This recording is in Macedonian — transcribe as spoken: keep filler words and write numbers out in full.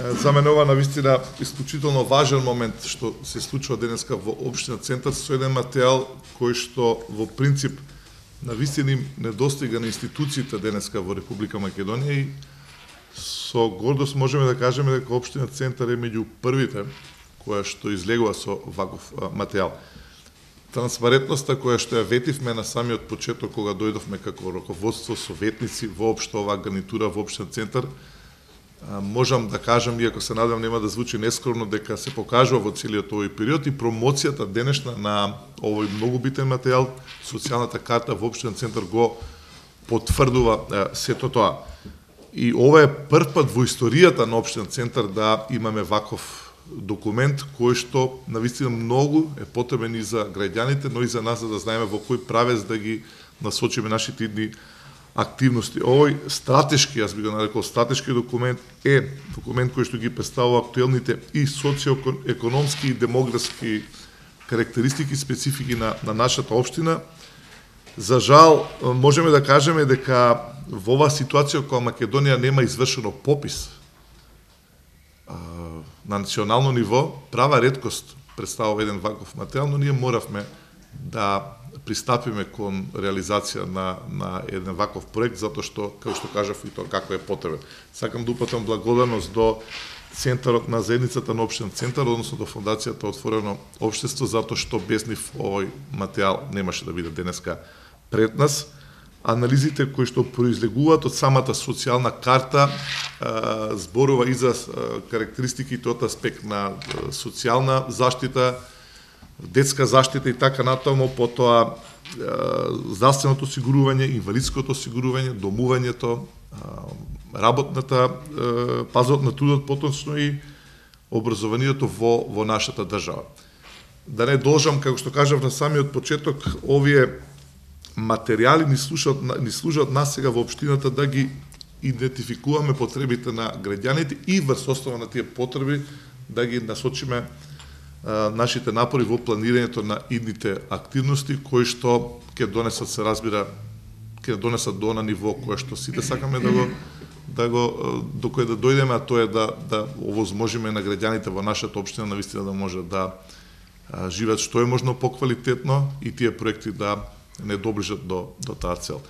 За мене ова навистина исклучително важен момент што се случува денеска во општина Центар со еден материјал кој што во принцип навистина им недостига на институциите денеска во Република Македонија и со гордост можеме да кажеме дека општина Центар е меѓу првите која што излегува со ваков материјал. Транспарентноста која што ја ветивме на самиот почеток кога дојдовме како раководство, советници воопшто оваа гарнитура во општина Центар, можам да кажам, иако се надам нема да звучи нескромно, дека се покажува во целиот овој период и промоцијата денешна на овој многу битен материјал, социјалната карта во општина Центар го потврдува сето тоа. И ова е прв пат во историјата на општина Центар да имаме ваков документ кој што навистина многу е потребен и за граѓаните, но и за нас за да знаеме во кој правец да ги насочиме нашите идни активности. Овој стратешки, јас би го нарекол стратешки документ, е документ кој што ги представува актуелните и социоекономски и демографски карактеристики, специфики на, на нашата општина. За жал, можеме да кажеме дека во оваа ситуација кога Македонија нема извршено попис на национално ниво, права реткост представува еден ваков материјал, но ние моравме да пристапиме кон реализација на, на еден ваков проект, затоа што, како што кажав, и тоа како е потребен. Сакам да упатам благодарност до Центарот на заедницата на општина Центар, односно до Фондацијата Отворено општество, затоа што без нив овој материјал немаше да биде денеска пред нас. Анализите кои што произлегуваат од самата социјална карта зборува и за карактеристиките од аспект на социјална заштита, детска заштита и така натаму, потоа здравственото осигурување, инвалидското осигурување, домувањето, работната, пазот на трудот, поточно и образованието во, во нашата држава. Да не должам, како што кажав на самиот почеток, овие материјали ни служат, ни служат нас сега во општината да ги идентификуваме потребите на граѓаните и врз основа на тие потреби да ги насочиме а, нашите напори во планирањето на идните активности кои што ќе донесат, се разбира, ќе донесат до на ниво кое што сите сакаме да го да го до кое да дојдеме, а тоа е да да овозможиме на граѓаните во нашата општина навистина да може да а, живеат што е можно поквалитетно и тие проекти да не доближат до, до таа цел.